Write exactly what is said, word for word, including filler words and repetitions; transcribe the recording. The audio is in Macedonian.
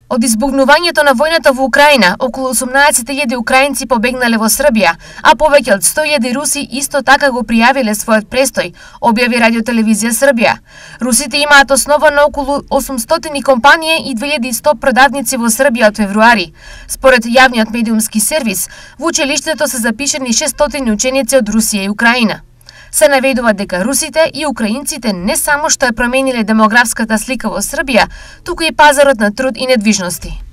Од избухнувањето на војната во Украина, околу осумнаесет илјади украинци побегнале во Србија, а повеќе од сто илјади руси исто така го пријавиле својот престој, објави Радиотелевизија Србија. Русите имаат основа на околу осумстотини компании и две илјади и сто продавници во Србија од февруари. Според јавниот медиумски сервис, во училиштето се запишани шестстотини ученици од Русија и Украина. Се наведува дека русите и украинците не само што ја промениле демографската слика во Србија, туку и пазарот на труд и недвижности.